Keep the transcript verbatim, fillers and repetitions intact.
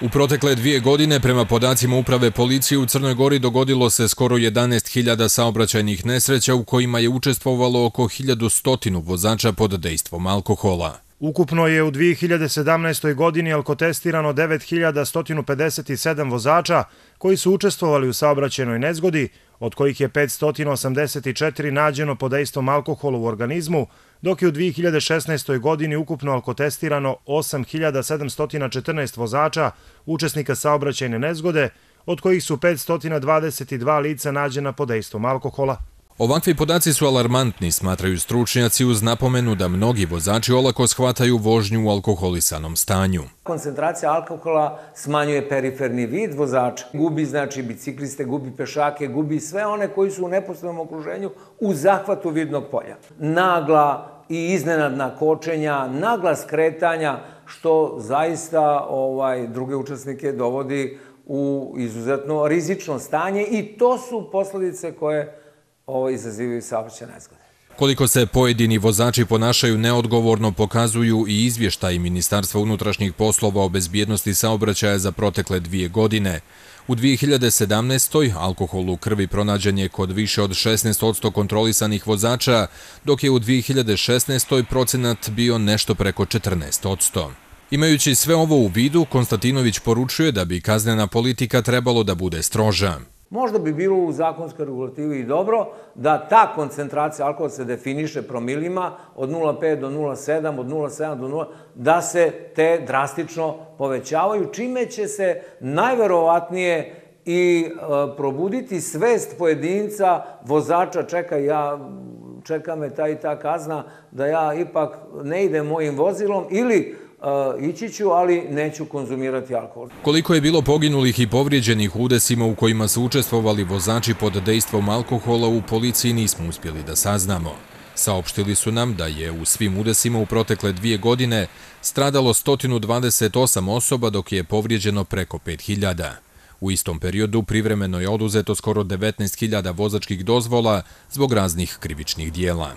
U protekle dvije godine, prema podacima Uprave policije u Crnoj Gori, dogodilo se skoro jedanaest hiljada saobraćajnih nesreća u kojima je učestvovalo oko hiljadu sto vozača pod dejstvom alkohola. Ukupno je u dvije hiljade sedamnaestoj. godini alkotestirano devet hiljada sto pedeset sedam vozača koji su učestvovali u saobraćajnoj nezgodi, od kojih je petsto osamdeset četiri nađeno pod dejstvom alkohola u organizmu, dok je u dvije hiljade šesnaestoj. godini ukupno alkotestirano osam hiljada sedamsto četrnaest vozača, učesnika saobraćajne nezgode, od kojih su petsto dvadeset dva lica nađena pod dejstvom alkohola. Ovakvi podaci su alarmantni, smatraju stručnjaci, uz napomenu da mnogi vozači olako shvataju vožnju u alkoholisanom stanju. Koncentracija alkohola smanjuje periferni vid vozača. Gubi, znači, bicikliste, gubi pešake, gubi sve one koji su u neposrednom okruženju u zahvatu vidnog polja. Nagla i iznenadna kočenja, nagla skretanja, što zaista ovaj, druge učesnike dovodi u izuzetno rizično stanje i to su posledice koje ovo izazivaju saobraćajne nezgode. Koliko se pojedini vozači ponašaju neodgovorno pokazuju i izvještaji Ministarstva unutrašnjih poslova o bezbjednosti saobraćaja za protekle dvije godine. U dvije hiljade sedamnaestoj. alkohol u krvi pronađen je kod više od šesnaest posto kontrolisanih vozača, dok je u dvije hiljade šesnaestoj. procenat bio nešto preko četrnaest posto. Imajući sve ovo u vidu, Konstantinović poručuje da bi kaznena politika trebalo da bude stroža. Možda bi bilo u zakonskoj regulativi i dobro da ta koncentracija alkohola se definiše promilima od nula zarez pet do nula zarez sedam, od nula zarez sedam do nula, da se te drastično povećavaju, čime će se najverovatnije i probuditi svest pojedinca, vozača, čeka, ja, čeka me ta i ta kazna, da ja ipak ne idem mojim vozilom ili ići ću, ali neću konzumirati alkohol. Koliko je bilo poginulih i povrijeđenih u udesima u kojima su učestvovali vozači pod dejstvom alkohola, u policiji nismo uspjeli da saznamo. Saopštili su nam da je u svim udesima u protekle dvije godine stradalo sto dvadeset osam osoba, dok je povrijeđeno preko pet hiljada. U istom periodu privremeno je oduzeto skoro devetnaest hiljada vozačkih dozvola zbog raznih krivičnih dijela.